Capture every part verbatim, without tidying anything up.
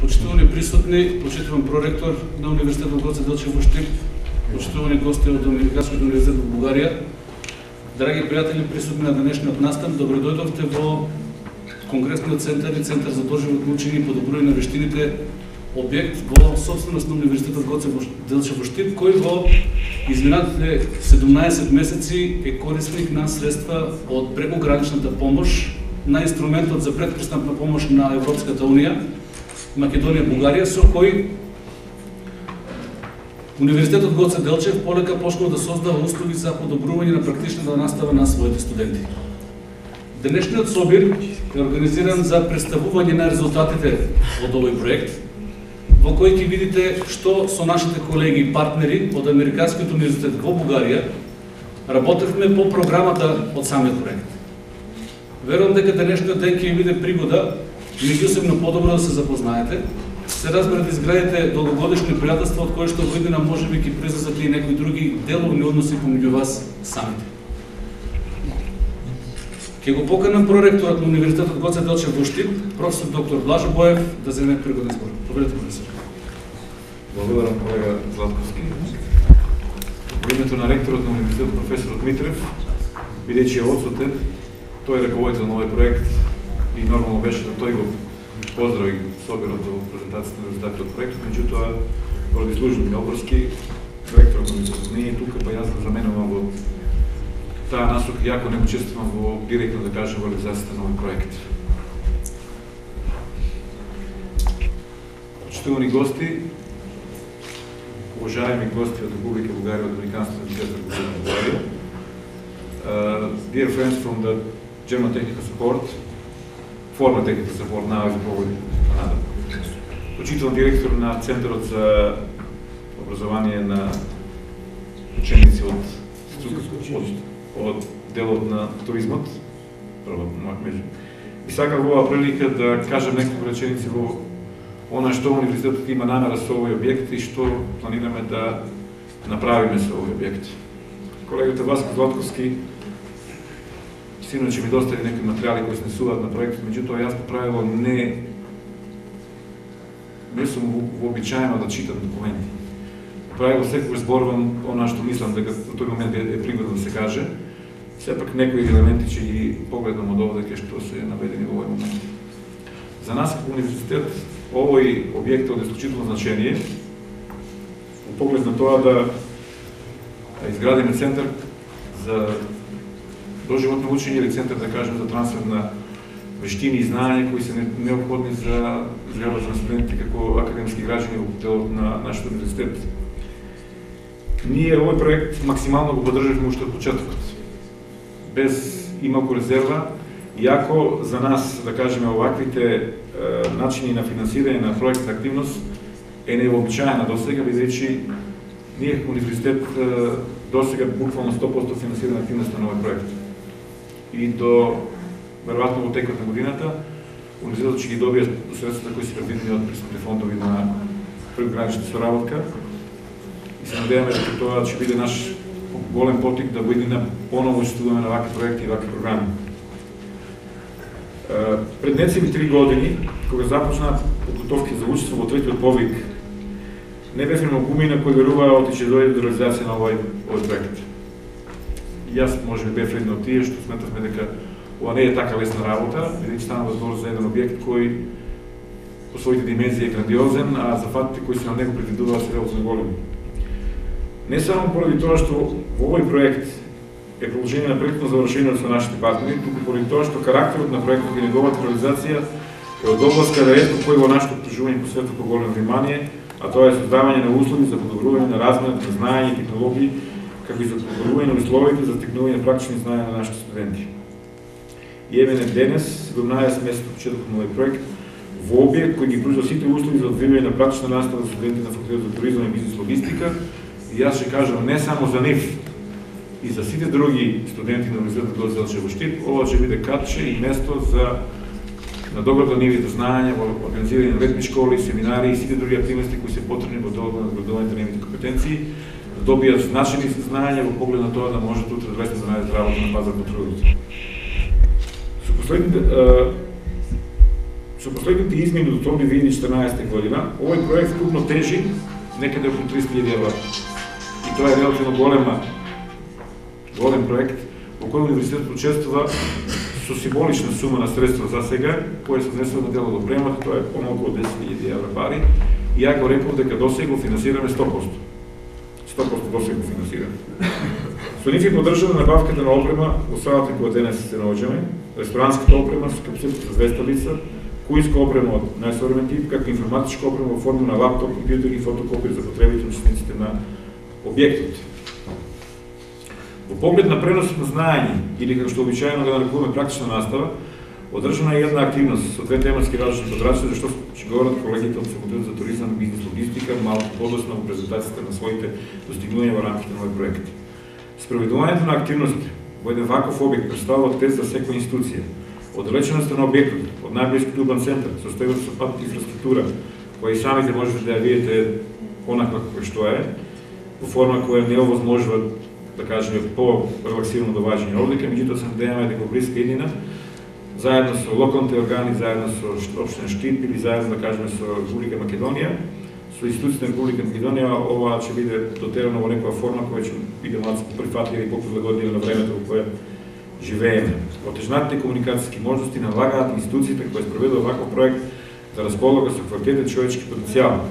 Почитувани присутни, почитуван проректор на Универзитетот Гоце Делчев во Штип, почитувани гости од Американскиот универзитет во Бугарија, драги пријатели присутни на денешниот настан, добро дојдовте во Конгресниот центар и Центар за доживотно учење и подобрување на вештините, објект во собственост на Универзитетот Гоце Делчев во Штип, кој во изминатите седумнаесет месеци е корисник на средства од прекограничната помош на инструментот за предпристапна помош на Европската унија, Македонија, Бугарија, со кој Универзитетот Гоце Делчев полека почнал да создава услови за подобрување на практичната настава на своите студенти. Денешниот собир е организиран за представување на резултатите од овој проект, во кој ќе видите што со нашите колеги и партнери од Американскиот универзитет во Бугарија работевме по програмата од самиот проект. Верувам дека денешниот ден ќе биде пригода меѓусебно подобро да се запознаете, се разберат изградите долгогодишни пријателства, од кои што во иднина можеби ќе произлезат и некои други деловни односи помеѓу вас самите. Ќе го поканам проректорот на Универзитетот Гоце Делчев во Штип, професор доктор Блажо Боев, да земе пригоден збор. Добрете, професор. Благодарам, колега Златковски. Во името на ректорот на Универзитетот професор Дмитрев, бидејќи е одсутен, тој е раководител на овој проект и нормално беше да тој го поздрави собирот во презентацијата на резултатите од проектот, меѓутоа поради служби Мелборски, ректорот на Универзитетот не е тука, па јас да заменувам во таа насока, јако не учествувам во директно да кажем во реализацијата на овој проект. Почитувани гости, уважаеми гости од Република Бугарија, од Американскиот универзитет во Бугарија, uh, dear friends from the German Technical Support, former Technical Support, now is probably Canada. Почитуван директор на Центарот за образование на ученици од од, од делот на туризмот, прво меѓу. И сакам во оваа прилика да кажам неколку реченици во она што универзитетот има намера со овој објект и што планираме да направиме со овој објект. Колегата Васко Златковски синоќ ми достави некои материјали кои се несуваат на проектот, меѓутоа јас по правило не не сум вообичаено да читам документи. По правило секогаш зборувам она што мислам дека во тој момент е пригодно да се каже. Сепак некои елементи ќе ги погледнам од овде кај што се наведени во овој момент. За нас како универзитет овој објект е од исклучително значение во поглед на тоа да изградиме центар за доживотно учење или центар, да кажем, за трансфер на вештини и знаења кои се необходни за изградбата на студентите како академски граѓани во делот на нашиот универзитет. Ние овој проект максимално го поддржавме уште од почетокот, без ималку резерва, иако за нас, да кажеме, оваквите е, начини на финансирање на проектна активност е невообичаена досега, бидејќи ние како универзитет досега буквално сто проценти финансираме активноста на овој проект. И до веројатно во текот на годината универзитетот ќе ги добие средствата кои се предвидени од престапни фондови на прекогранична соработка и се надеваме дека тоа ќе биде наш голем потик да во иднина поново учествуваме на вакви проекти и вакви програми. Пред нецели три години, кога започна подготовки за учество во третиот повик, не бевме многумина кои веруваа оти ќе дојде до реализација на овој, овој проект. И јас може би бев еден од тие што сметавме дека ова не е така лесна работа, бидејќи стана збор за еден објект кој по своите димензии е грандиозен, а зафатите кои се на него предвидуваат се релативно големи. Не само поради тоа што во овој проект е продолжение на проектно завршение со нашите партнери, туку поради тоа што карактерот на проектот и неговата реализација е од област каде ретко кој во нашето окружување посветува поголемо внимание, а тоа е создавање на услови за подобрување на разменот на знаења и технологии, како и за подобрување на условите за стекнување на практични знаења на нашите студенти. И еве денес, седумнаесет месеци од почетокот на овој проект, во објект кој ги пружа сите услови за одвивање на практична настава за студенти на факултетот за туризам и бизнес логистика, и јас ќе кажам не само за нив, и за сите други студенти на Универзитетот Гоце Делчев во Штип, ова ќе биде катче и место за надоградување на нивните знаења, во организирање на летни школи, семинари и сите други активности кои се потребни во делот на надградувањето на нивните компетенции, да добијат значени знаења во поглед на тоа да можат утре лесно да најдат работа на пазар на трудот. Со последните Со последните измени до октомври две илјади и четрнаесета година, овој проект вкупно тежи некаде околу триста илјади евра. И тоа е релативно голема, голем проект, во кој универзитетот учествува со символична сума на средства за сега, која се внесува на дело до премат, тоа е помалку од десет илјади евра пари, и ја го реков дека досега го финансираме сто проценти. сто проценти досега го финансираме. Со нив е поддржана набавката на опрема во салата која денес се наоѓаме, ресторанската опрема со капацитет за двеста лица, кујска опрема од најсовремен тип, како информатичка опрема во форма на лаптоп, компјутери и фотокопии за потребите на учесниците на објектот. Во поглед на преносот на знаење, или како што обичаено да нарекуваме практична настава, одржана е една активност со две тематски различни подрачи, зашто ќе говорат колегите од Факултетот за туризам и бизнес логистика малку подоцна во презентацијата на своите достигнувања во рамките на овој проект. Спроведувањето на активности во еден ваков објект представува тест за секоја институција. Оддалеченоста на објектот од најблискиот урбан центар, состојбата со пат инфраструктура, која и самите можете да ја видите онаква како што е, во форма која не овозможува, да кажеме, по-релаксирано доваѓање одлика, меѓутоа се надеваме дека во блиска иднина, заедно со локалните органи, заедно со општина Штип или заедно, да кажеме, со Република Македонија, со институциите на Република Македонија, ова ќе биде дотерано во некоја форма која ќе биде малку поприфатлива и поприлагодлива на времето во кое живееме. Отежнатите комуникацијски можности налагаат институциите кои спроведува ваков проект да располага со квалитетен човечки потенцијал,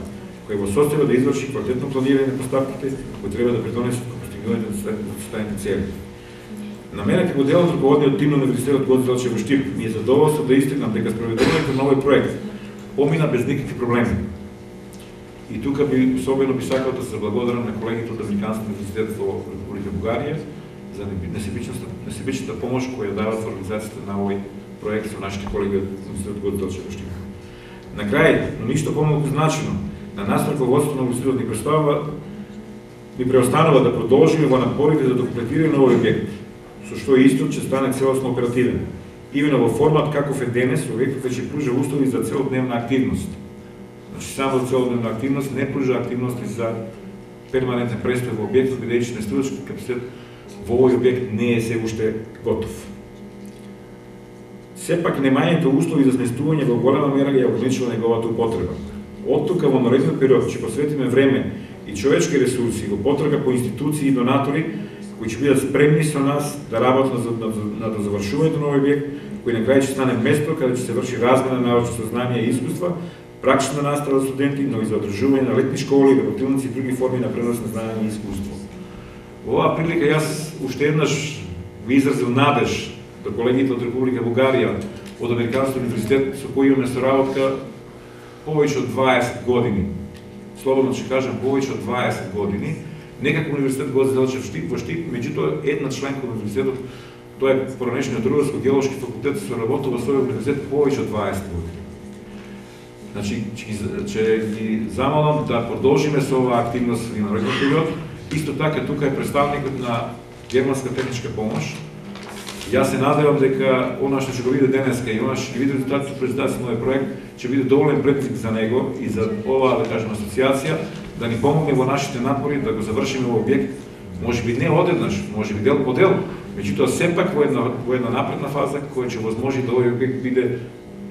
кој во состојба да изврши квалитетно планирање на поставките кои треба да придонесат кон постигнувањето на заставените цели. На мене како дел од руководниот тим на Универзитетот Гоце Делчев во Штип ми е задоволство да истакнам дека спроведувањето на овој проект помина без никакви проблеми. И тука би особено би сакал да се благодарам на колегите од Американскиот универзитет во Република Бугарија за несебичната помош која дават во организацијата на овој проект со нашите колеги од Универзитетот Гоце Делчев во Штип. На крај, но ништо помалку значено, на нас раководството на универзитетот ни представува ни преостанува да продолжиме во напорите за документирање на овој објект, со што исто ќе стане целосно оперативен. Имено во формат каков е денес, објектот веќе пружа услови за целодневна активност. Значи, само за целодневна активност, не пружа активности за перманентен престој во објектот, бидејќи нестудачки капацитет во овој објект не е се уште готов. Сепак, немањето услови за сместување во голема мера ја ограничува неговата употреба. Од тука во наредниот период ќе посветиме време и човечки ресурси во потрага по институции и донатори кои ќе бидат спремни со нас да работат на, на, на, на завршувањето на овој објект, кој на крај ќе стане место каде ќе се врши размена на научно знание и искуства, практична настава за студенти, но и за одржување на летни школи, работилници и други форми на пренос на знаење и искуство. Во оваа прилика јас уште еднаш ви изразил надеж до колегите од Република Бугарија, од Американскиот универзитет со кој имаме соработка повеќе од дваесет години. Слободно ќе кажам повеќе од дваесет години. Некако универзитет Гоце Делчев во Штип, меѓутоа една членка од универзитетот, тоа е поранешниот Рударско-геолошки факултет, соработува со овој универзитет повеќе од дваесет години. Значи, ќе ги замолам да продолжиме со оваа активност во наредниот период. Исто така, тука е представникот на Германска техничка помош. Јас се надевам дека она што ќе го види денеска и она што ќе види резултатите од презентацијата на овој проект ќе биде доволен предизвик за него и за оваа, да кажем, асоциација, да ни помогне во нашите напори да го завршиме овој објект, можеби не одеднаш, можеби дел по дел, меѓутоа сепак во една во една напредна фаза која ќе возможи да овој објект биде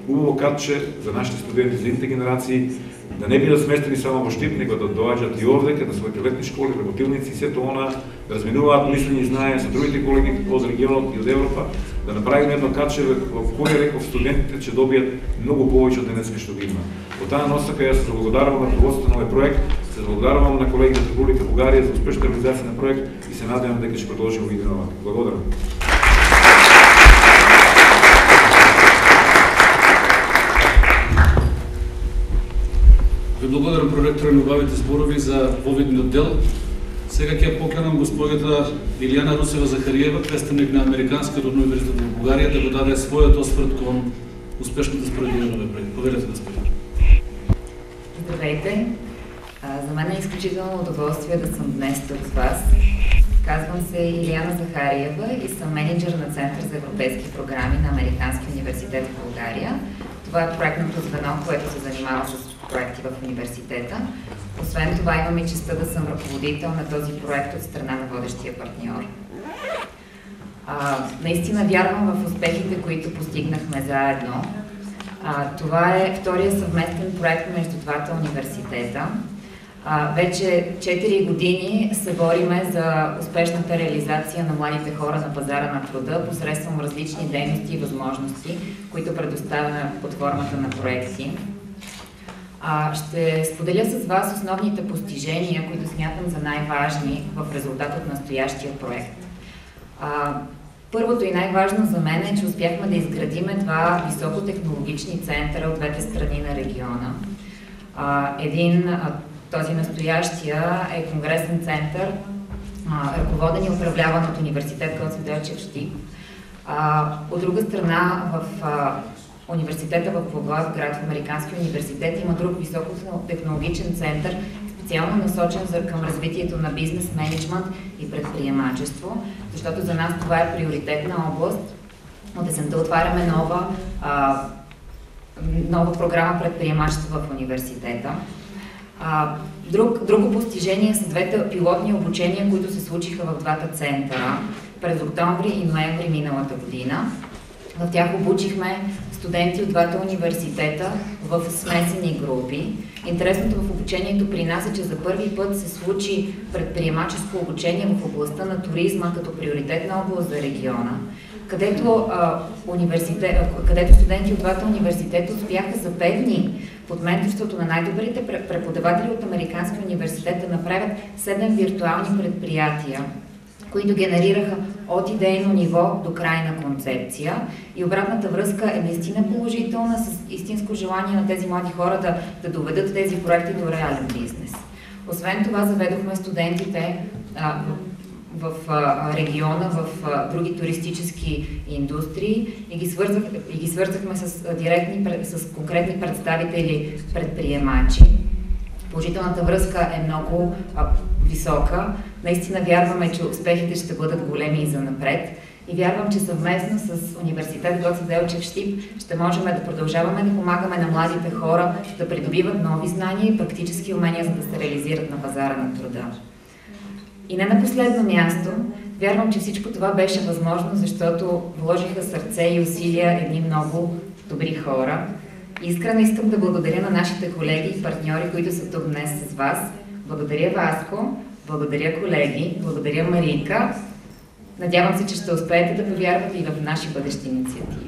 убаво катче за нашите студенти, за идните генерации, да не бидат сместени само во Штип, него да доаѓаат и овде на своите летни школи, работилници и сето она, да разменуваат мислење и знаење со другите колеги од регионот и од Европа, да направиме едно катче во кое реков студентите ќе добијат многу повеќе од денеска што ги има. Во таа насока јас се благодарувам на рководството на овој проект, се благодарувам на колегите од Република Бугарија за успешна реализација на проект и се надевам дека ќе продолжиме во иднина овака. Благодарам. Ви благодарам, проректор, на убавите зборови за повидниот дел. Сега ќе поканам госпоѓата Илијана Русева Захариева, представник на Американскиот универзитет во Бугарија, да го даде својот осврт кон успешното спроведување на овој проект. Поверете, господине. Здравейте! За мен е изключително удоволствие да съм днес тук с вас. Казвам се Илијана Захариева и съм менеджер на Център за европейски програми на Американския университет в България. Това е проектното звено, което се занимава с проекти в университета. Освен това имам и честта да съм ръководител на този проект от страна на водещия партньор. А, наистина вярвам в успехите, които постигнахме заедно. А, това е втория съвместен проект между двата университета. А, вече четири години се бориме за успешната реализация на младите хора на пазара на труда посредством различни дейности и възможности, които предоставяме под формата на проекти. А, ще споделя с вас основните постижения, които смятам за най-важни в резултат от настоящия проект. А, първото и най-важно за мен е, че успяхме да изградиме два високотехнологични центъра от двете страни на региона. А, един, а, този настоящия е конгресен център, а, ръководен и управляван от университет Гоце Делчев Щип. А, от друга страна, в а, университета в Благоевград, в Американския университет, има друг високотехнологичен център, специално насочен за, към развитието на бизнес менеджмент и предприемачество, защото за нас това е приоритетна област. От есента отваряме нова, а, нова програма предприемачество в университета. А, друг, друго постижение са двете пилотни обучения, които се случиха в двата центъра през октомври и ноември миналата година. В тях обучихме студенти от двата университета в смесени групи. Интересното в обучението при нас е, че за първи път се случи предприемаческо обучение в областта на туризма като приоритетна област за региона, където, а, университет, където студенти от двата университета успяха за пет дни под менторството на най-добрите преподаватели от Американския университет да направят седем виртуални предприятия, които генерираха от идейно ниво до крайна концепция. И обратната връзка е наистина положителна, с истинско желание на тези млади хора да, да доведат тези проекти до реален бизнес. Освен това, заведохме студентите а, в, в а, региона, в а, други туристически индустрии и ги, свързах, и ги свързахме с, а, директни, с конкретни представители предприемачи. Положителната връзка е много а, висока. Наистина вярваме, че успехите ще бъдат големи и занапред. И вярвам, че съвместно с университет Гоце Делчев Щип ще можем да продължаваме да помагаме на младите хора да придобиват нови знания и практически умения, за да се реализират на пазара на труда. И не на последно място, вярвам, че всичко това беше възможно, защото вложиха сърце и усилия едни много добри хора. Искрено искам да благодаря на нашите колеги и партньори, които са тук днес с вас. Благодаря, Васко, благодаря, колеги, благодаря, Марийка. Надявам се, че ще успеете да повярвате и в наши бъдещи инициативи.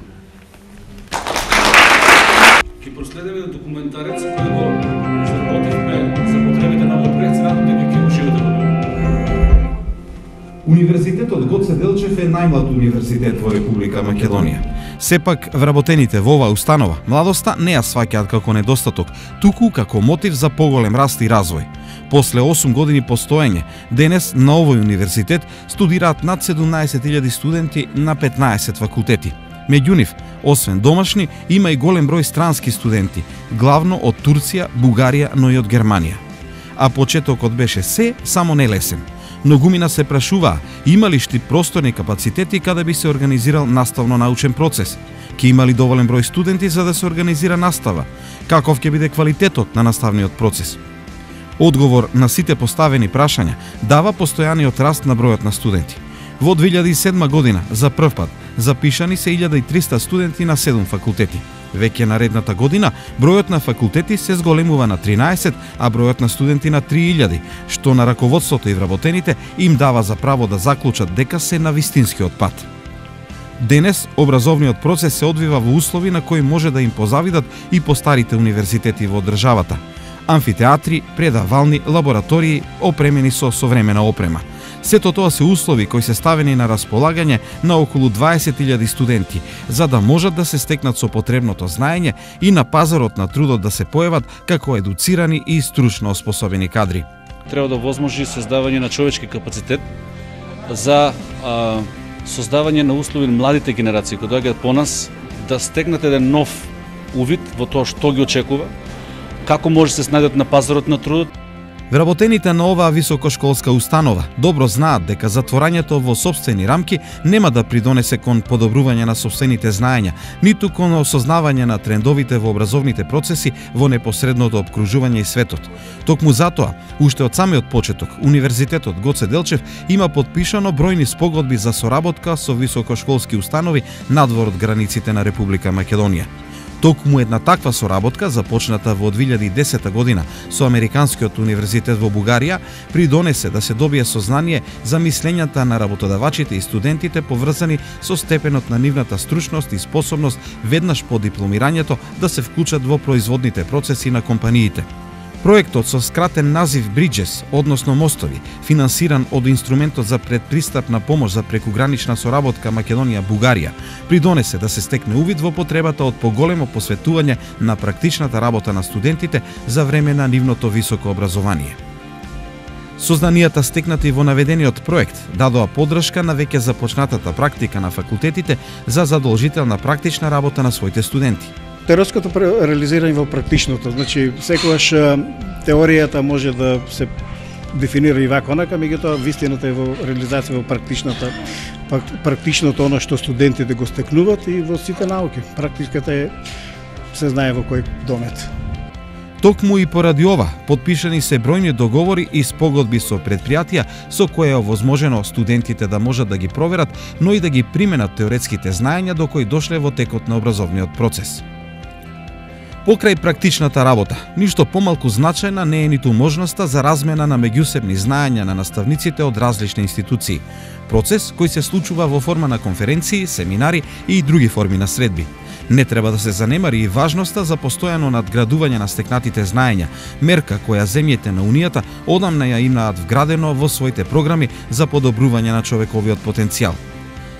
Ки проследиме документарец, кој го изработивме за потребите на овој проект, се надам дека ќе уживате во него. Универзитетот Гоце Делчев е најмлад универзитет во Република Македонија. Сепак, вработените во оваа установа, младоста не ја сваќаат како недостаток, туку како мотив за поголем раст и развој. После осум години постоење, денес на овој универзитет студираат над седумнаесет илјади студенти на петнаесет факултети. Меѓу нив, освен домашни, има и голем број странски студенти, главно од Турција, Бугарија, но и од Германија. А почетокот беше се, само не лесен. Многумина се прашуваа, има ли шти просторни капацитети каде би се организирал наставно-научен процес? Ке има ли доволен број студенти за да се организира настава? Каков ќе биде квалитетот на наставниот процес? Одговор на сите поставени прашања дава постојаниот раст на бројот на студенти. Во две илјади и седма година, за прв пат, запишани се илјада и триста студенти на седум факултети. Веќе наредната година, бројот на факултети се зголемува на тринаесет, а бројот на студенти на три илјади, што на раководството и вработените им дава за право да заклучат дека се на вистинскиот пат. Денес, образовниот процес се одвива во услови на кои може да им позавидат и постарите универзитети во државата. Амфитеатри, предавални, лаборатории, опремени со современа опрема. Сето тоа се услови кои се ставени на располагање на околу дваесет илјади студенти, за да можат да се стекнат со потребното знаење и на пазарот на трудот да се појават како едуцирани и стручно оспособени кадри. Треба да возможи создавање на човечки капацитет за а, создавање на услови на младите генерации кои доаѓаат по нас да стекнат еден нов увид во тоа што ги очекува, како може да се снајдат на пазарот на трудот. Вработените на оваа високошколска установа добро знаат дека затворањето во сопствени рамки нема да придонесе кон подобрување на сопствените знаења, ниту кон осознавање на трендовите во образовните процеси во непосредното опкружување и светот. Токму затоа, уште од самиот почеток, Универзитетот Гоце Делчев има подпишано бројни спогодби за соработка со високошколски установи надвор од границите на Република Македонија. Токму една таква соработка, започната во две илјади и десета година со Американскиот универзитет во Бугарија, придонесе да се добие сознание за мислењата на работодавачите и студентите поврзани со степенот на нивната стручност и способност веднаш по дипломирањето да се вклучат во производните процеси на компаниите. Проектот со скратен назив Bridges, односно мостови, финансиран од инструментот за предпристапна помош за прекугранична соработка Македонија-Бугарија, придонесе да се стекне увид во потребата од поголемо посветување на практичната работа на студентите за време на нивното високо образование. Сознанијата стекнати во наведениот проект дадоа поддршка на веќе започнатата практика на факултетите за задолжителна практична работа на своите студенти. Теоретското реализирање во практичното, значи секогаш теоријата може да се дефинира и вака онака, меѓутоа вистината е во реализација во практичната, практичното оно што студентите го стекнуваат и во сите науки. Практиката е се знае во кој домет. Токму и поради ова, потпишани се бројни договори и спогодби со предпријатија со кои е овозможено студентите да можат да ги проверат, но и да ги применат теоретските знаења до кои дошле во текот на образовниот процес. Покрај практичната работа, ништо помалку значајна не е ниту можноста за размена на меѓусебни знаења на наставниците од различни институции. Процес кој се случува во форма на конференции, семинари и други форми на средби. Не треба да се занемари и важноста за постојано надградување на стекнатите знаења, мерка која земјите на Унијата одамна ја имаат вградено во своите програми за подобрување на човековиот потенцијал.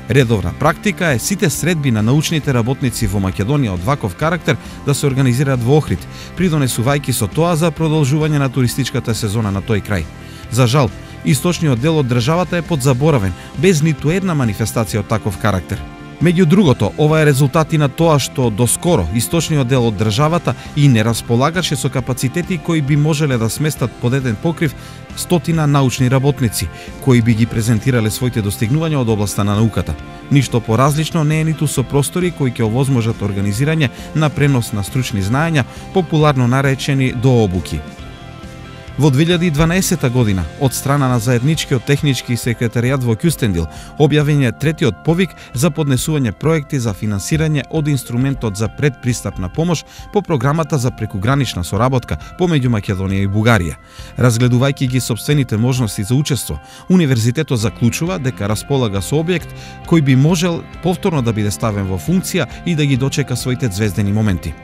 Редовна практика е сите средби на научните работници во Македонија од ваков карактер да се организираат во Охрид, придонесувајќи со тоа за продолжување на туристичката сезона на тој крај. За жал, источниот дел од државата е подзаборавен, без ниту една манифестација од таков карактер. Меѓу другото, ова е резултат и на тоа што доскоро источниот дел од државата и не располагаше со капацитети кои би можеле да сместат под еден покрив стотина научни работници, кои би ги презентирале своите достигнувања од областа на науката. Ништо поразлично не е ниту со простори кои ќе овозможат организирање на пренос на стручни знаења, популарно наречени дообуки. Во две илјади и дванаесета година, од страна на заедничкиот технички секретаријат во Кюстендил, објавен е третиот повик за поднесување проекти за финансирање од инструментот за предпристапна помош по програмата за прекугранична соработка помеѓу Македонија и Бугарија. Разгледувајќи ги сопствените можности за учество, универзитетот заклучува дека располага со објект кој би можел повторно да биде ставен во функција и да ги дочека своите звездени моменти.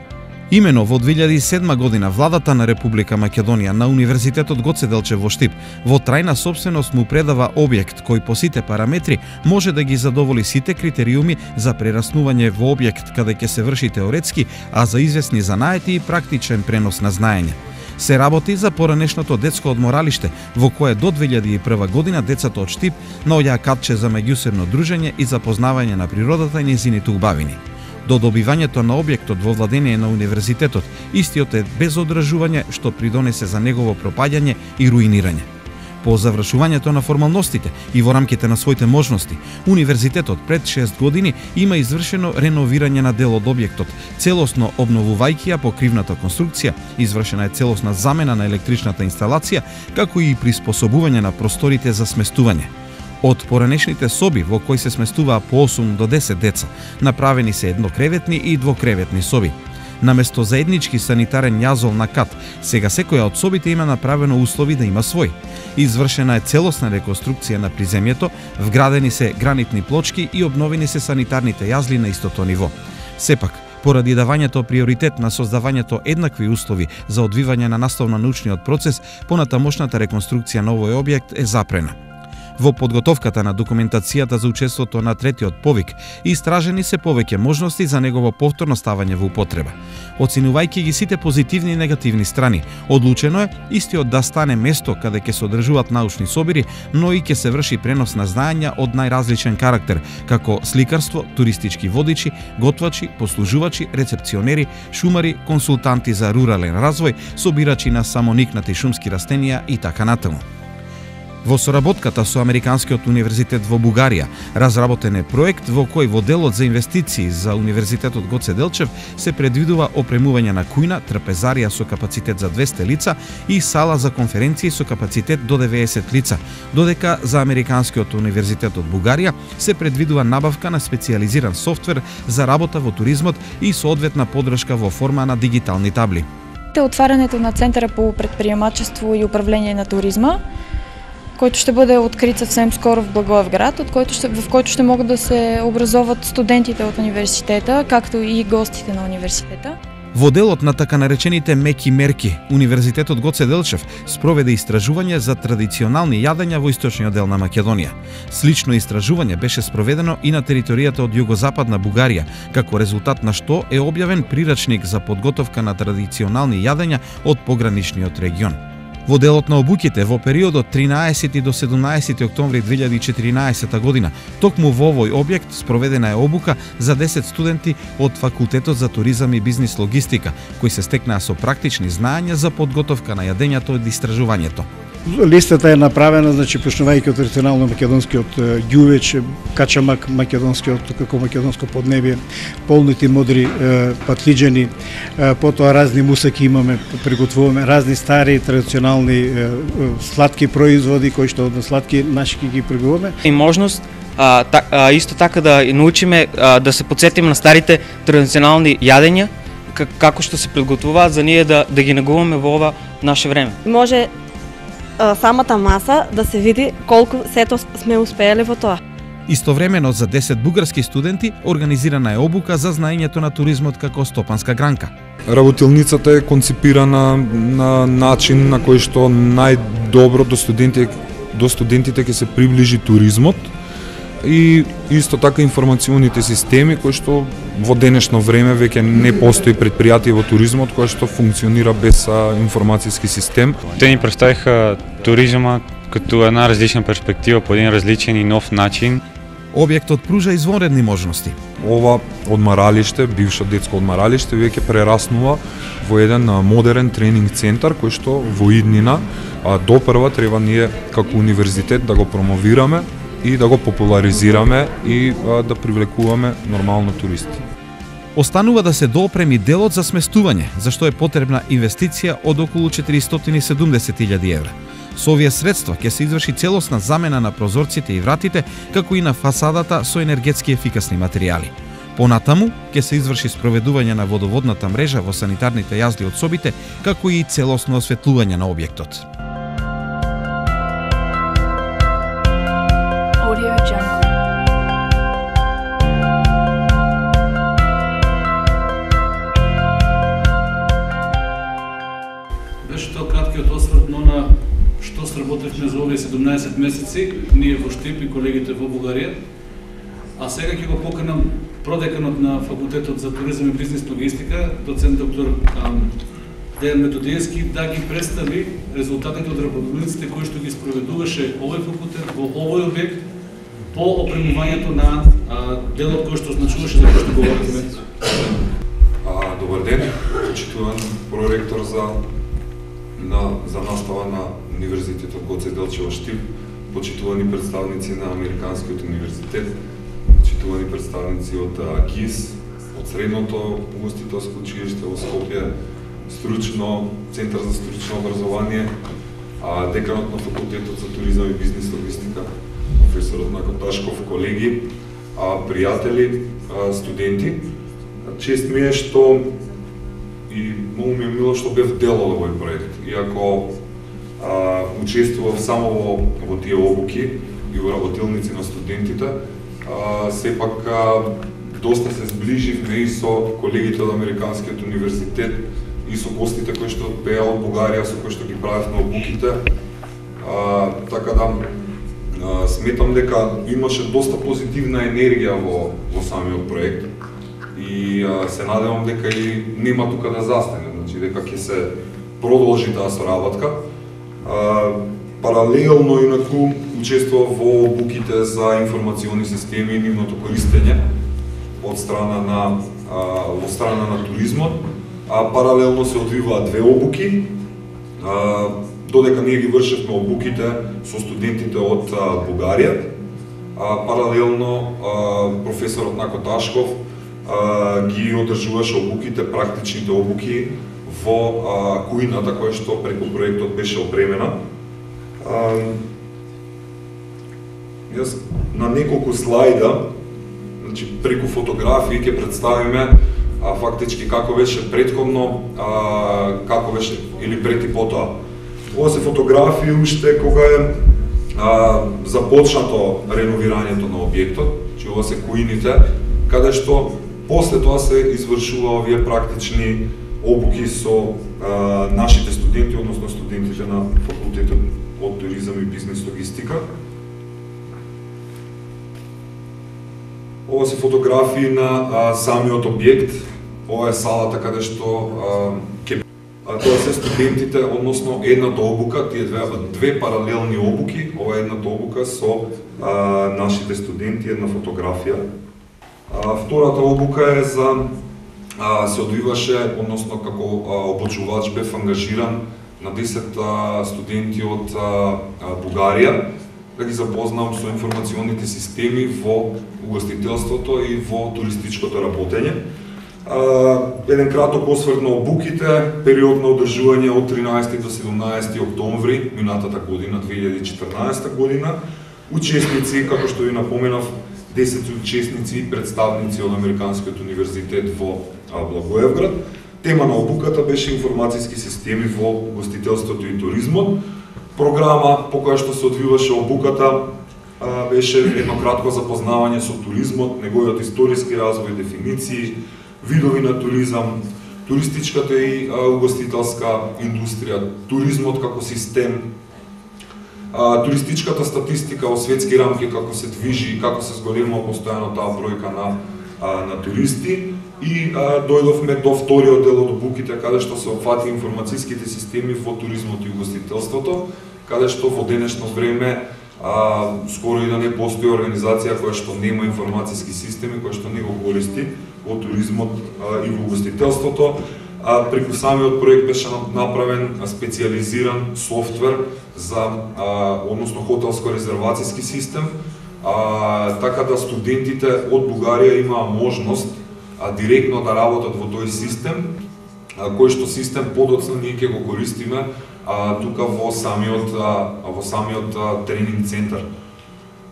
Имено во две илјади и седма година владата на Република Македонија на Универзитетот Гоце Делчев во Штип во трајна сопственост му предава објект кој по сите параметри може да ги задоволи сите критериуми за прераснување во објект каде ќе се врши теоретски, а за известни занаети и практичен пренос на знаење. Се работи за поранешното детско одморалиште, во кое до две илјади и прва година децата од Штип наоѓаа катче за меѓусебно дружење и запознавање на природата и нејзините убавини. До добивањето на објектот во владение на универзитетот, истиот е без одржување што придонесе за негово пропаѓање и руинирање. По завршувањето на формалностите и во рамките на своите можности, универзитетот пред шест години има извршено реновирање на дел од објектот, целосно обновувајќи ја покривната конструкција, извршена е целосна замена на електричната инсталација, како и приспособување на просторите за сместување. Од поранешните соби во кои се сместуваа по осум до десет деца, направени се еднокреветни и двокреветни соби. Наместо заеднички санитарен јазол на кат, сега секоја од собите има направено услови да има свој. Извршена е целосна реконструкција на приземјето, вградени се гранитни плочки и обновени се санитарните јазли на истото ниво. Сепак, поради давањето приоритет на создавањето еднакви услови за одвивање на наставно-научниот процес, понатамошната реконструкција на овој објект е запрена. Во подготовката на документацијата за учеството на третиот повик, истражени се повеќе можности за негово повторно ставање во употреба. Оценувајќи ги сите позитивни и негативни страни, одлучено е истиот да стане место каде ќе се одржуваат научни собири, но и ќе се врши пренос на знаења од најразличен карактер, како сликарство, туристички водичи, готвачи, послужувачи, рецепционери, шумари, консултанти за рурален развој, собирачи на самоникнати шумски растенија и така натаму. Во соработката со Американскиот универзитет во Бугарија, разработен е проект во кој во делот за инвестиции за Универзитетот Гоце Делчев се предвидува опремување на кујна, трапезарија со капацитет за двесте лица и сала за конференции со капацитет до деветдесет лица, додека за Американскиот универзитет од Бугарија се предвидува набавка на специјализиран софтвер за работа во туризмот и соодветна подршка во форма на дигитални табли. Отварянето на Центара по предприемачество и управление на туризма, който ще бъде открит съвсем скоро в Благоевград, от който ще, в който ще могат да се образоват студентите от университета, както и гостите на университета. Во делот на така наречените меки мерки, Универзитетот Гоце Делчев спроведе истражување за традиционални јадења во источниот дел на Македонија. Слично истражување беше спроведено и на територијата од југозападна Бугарија, како резултат на што е објавен прирачник за подготовка на традиционални јадења од пограничниот регион. Во делот на обуките во периодот тринаесети до седумнаесети октомври две илјади и четиринаесета година, токму во овој објект спроведена е обука за десет студенти од Факултетот за туризам и бизнис логистика, кои се стекнаа со практични знаења за подготовка на јадењата од истражувањето. Листата е направена, значи, почнувајќи од традиционално македонскиот ѓувеч, качамак македонскиот, како македонско поднебие, полнити модри патлиџени, потоа разни мусаки имаме, приготвуваме, разни стари традиционални сладки производи, кои што од сладки наши ги приготвуваме. И можност а, та, а, исто така да научиме а, да се подсетиме на старите традиционални јадења, како што се приготвуваат за ние да, да ги негуваме во ова наше време. Може самата маса да се види колку сето сме успееле во тоа. Истовремено за десет бугарски студенти организирана е обука за знаењето на туризмот како стопанска гранка. Работилницата е концепирана на начин на кој што најдобро до студентите до студентите ќе се приближи туризмот и исто така информационите системи кои што во денешно време веќе не постои предпријатие во туризмот кој што функционира без информацијски систем. Те ни представиха туризма като една различна перспектива по един различен и нов начин. Објектот пружа извонредни можности. Ова одмаралиште, бившо детско одмаралиште, веќе прераснува во еден модерен тренинг центар кој што во иднина допрва треба ние како универзитет да го промовираме и да го популаризираме и а, да привлекуваме нормално туристи. Останува да се доопреми делот за сместување, за што е потребна инвестиција од околу четиристотини и седумдесет илјади евра. Со овие средства ќе се изврши целосна замена на прозорците и вратите, како и на фасадата со енергетски ефикасни материјали. Понатаму ќе се изврши спроведување на водоводната мрежа во санитарните јазди од собите, како и целосно осветлување на објектот. Беше тоа краткиот осврт на што сработевме за овие седумнаесет месеци, ние во Штип и колегите во Бугарија. А сега ќе го поканам продеканот на Факултетот за туризам и бизнис логистика, доцент доктор Дејан Методиевски, да ги представи резултатите од работилниците кои што ги спроведуваше овој факултет во овој објект по опремувањето на а, делот кој што значуваше за кој што говорихме. Добар ден, почитуван проректор за на за настава на Универзитетот Гоце Делчев во Штип, почитувани представници на Американскиот универзитет, почитувани представници од КИС, од Средното угостителско училиште во Скопје, стручно Центар за стручно образование, а деканот на Факултетот за туризам и бизнис логистика, професорот Нако Ташков, колеги, а пријатели, а, студенти. Чест ми е што и многу ми е мило што бев дел од овој проект. Иако а, учествував само во, во тие обуки и во работилници на студентите, а, сепак а, доста се сближивме и со колегите од Американскиот универзитет и со гостите кои што беа од Бугарија, со кои што ги правевме обуките. А, така да а, сметам дека имаше доста позитивна енергија во, во самиот проект. И а, се надевам дека и нема тука да застане, значи дека ќе се продолжи таа соработка. А, паралелно инаку учествував во обуките за информациони системи и нивното користење од страна на а, во страна на туризмот, а паралелно се одвиваат две обуки. А, додека ние ги вршевме обуките со студентите од а, Бугарија, а, паралелно а, професорот Нако Ташков а, ги одржуваше обуките, практичните обуки во а, кујната која што преку проектот беше опремена. А, јас на неколку слайда, значи преку фотографии ќе представиме а, фактички како беше претходно, а, како беше или пред и потоа. Ова се фотографии уште кога е а, започнато реновирањето на објектот, че ова се куините, каде што после тоа се извршува овие практични обуки со а, нашите студенти, односно студентите на факултетот од туризам и бизнес логистика. Ова се фотографии на а, самиот објект. Ова е салата каде што а, ке а, тоа се студентите, односно едната обука, тие две, две паралелни обуки, ова е едната обука со а, нашите студенти, една фотографија. А, втората обука е за а, се одвиваше, односно како а, обучувач бев ангажиран на десет а, студенти од а, а, Бугарија, да ги запознам со информационите системи во угостителството и во туристичкото работење. Еден краток осврт на обуките, период на одржување од тринаесети до седумнаесети октомври минатата година, две илјади и четрнаесета година. Учесници, како што ви напоменав, десет учесници и представници од Американскиот универзитет во Благоевград. Тема на обуката беше информацијски системи во угостителството и туризмот. Програма по која што се одвиваше обуката беше едно кратко запознавање со туризмот, неговиот историски развој, дефиниции, видови на туризам, туристичката и угостителска индустрија, туризмот како систем, туристичката статистика во светски рамки, како се движи и како се зголемува постојано таа бројка на, на туристи. И а, дојдовме до вториот дел од обуките, каде што се опфати информацијските системи во туризмот и угостителството, каде што во денешно време а, скоро и да не постои организација која што нема информацијски системи, која што не го користи во туризмот а, и во угостителството. А, преку самиот проект беше направен специализиран софтвер за, а, односно хотелско резервацијски систем, а, така да студентите од Бугарија имаа можност а, директно да работат во тој систем, а, кој што систем подоцна ние ќе го користиме а, тука во самиот, а, во самиот а, тренинг центар.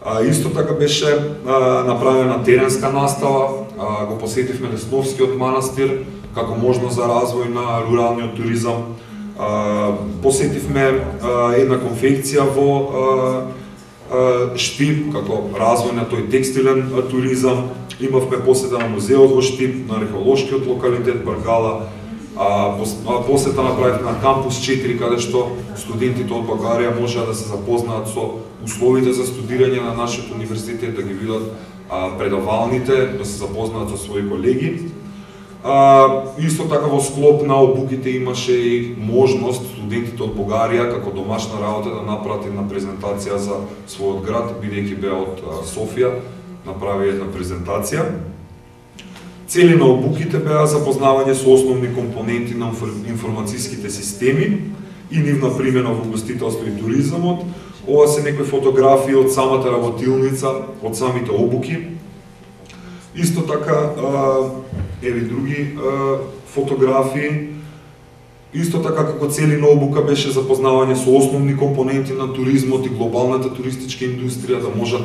А, исто така беше а, направена теренска настава, а, го посетивме Лесновскиот манастир како можност за развој на руралниот туризам. А, посетивме а, една конфекција во а, а, Штип како развој на тој текстилен а, туризам. Имавме посета на музеот во Штип, на археолошкиот локалитет Баргала. А, посета направивме на кампус четири, каде што студентите од Бугарија можеа да се запознаат со условите за студирање на нашиот универзитет, да ги видат а, предавалните, да се запознаат со своји колеги. А, исто така во склоп на обуките имаше и можност студентите од Бугарија како домашна работа да направат една презентација за својот град, бидејќи беа од а, Софија, направи една презентација. Цели на обуките беа запознавање со основни компоненти на информацијските системи и нивна примена во угостителство и туризмот. Ова се некои фотографии од самата работилница, од самите обуки. Исто така, еви други фотографии. Исто така како цели на обука беше запознавање со основни компоненти на туризмот и глобалната туристичка индустрија, да можат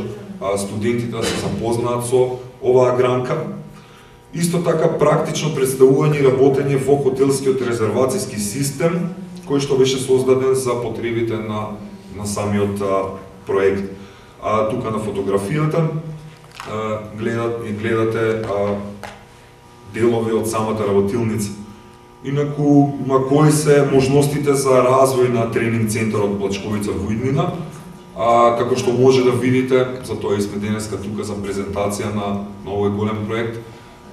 студентите да се запознаат со оваа гранка. Исто така практично представување и работење во хотелскиот резервацијски систем, кој што беше создаден за потребите на, на самиот а, проект. А, тука на фотографијата а, гледат, гледате а, делови од самата работилница. Инаку, ма кои се можностите за развој на тренинг центарот Плачковица во Иднина, а, како што може да видите, за тоа сме денеска тука за презентација на, на овој голем проект.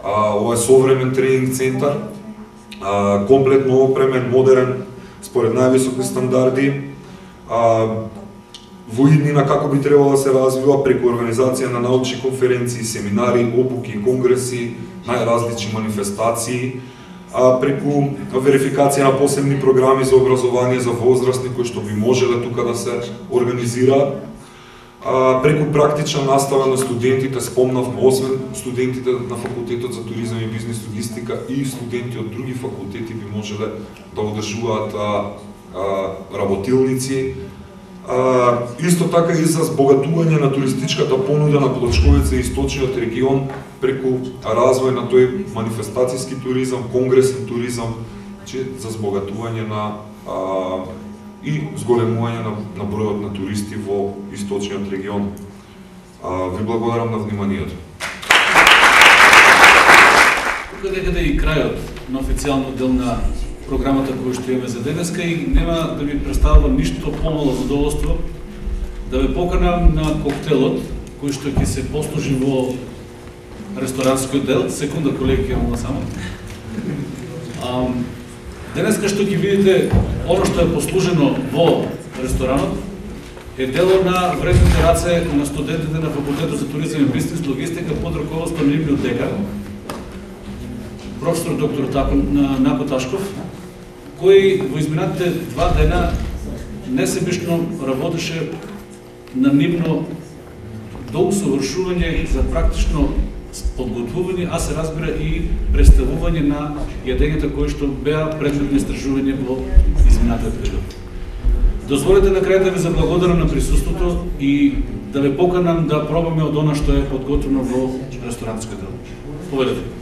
А, ова е современ тренинг центар, а, комплетно опремен, модерен, според највисоки стандарди. А, во Иднина како би требало да се развива преку организација на научни конференции, семинари, обуки, конгреси, најразлични манифестации. а, преку верификација на посебни програми за образование за возрастни кои што би можеле тука да се организираат, а, преку практична настава на студентите, спомнавме, освен студентите на факултетот за туризам и бизнес логистика и студенти од други факултети би можеле да одржуваат а, а, работилници. А, исто така и за збогатување на туристичката понуда на Плочковица и источниот регион преку развој на тој манифестацијски туризам, конгресен туризам, че за збогатување на а, и зголемување на, на бројот на туристи во источниот регион. А, ви благодарам на вниманието. Тука некаде и крајот на официјалниот дел на програмата која што имаме за денеска и нема да ви представувам ништо помало задоволство да ве поканам на коктелот кој што ќе се послужи во ресторанскиот дел. Секунда, колеги, ќе мола само. Денеска што ќе видите оно што е послужено во ресторанот е дело на вредните раце на студентите на факултетот за туризам и бизнес логистика под раководството на нивниот декан, професор доктор Нако Ташков, кој во изминатите два дена несебишно работеше на нивно до усовршување за практично подготвување, а се разбира и представување на јадењата кои што беа предмет на истражување во изминатиот период. Дозволете на крај да ви заблагодарам на присуството и да ве поканам да пробаме од она што е подготвено во ресторанската дел. Поведете.